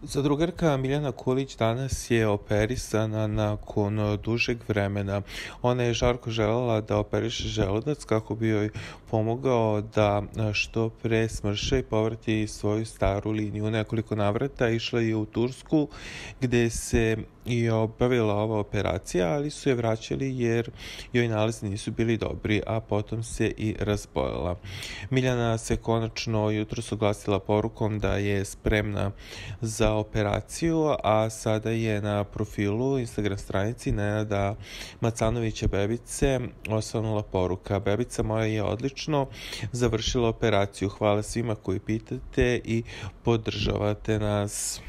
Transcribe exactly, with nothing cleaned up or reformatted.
Zadrugarka Miljana Kulić danas je operisana nakon dužeg vremena. Ona je žarko želela da operiše želudac kako bi joj pomogao da što pre smrše i povrati svoju staru liniju. U nekoliko navrata išla je u Tursku gde se i obavila ova operacija, ali su je vraćali jer joj nalazi nisu bili dobri, a potom se i razbolela. Miljana se konačno jutros oglasila porukom da je spremna za operaciju, a sada je na profilu Instagram stranici Nenada Macanovića bebice osvanula poruka: bebica moja je odlično završila operaciju, hvala svima koji pitate i podržavate nas.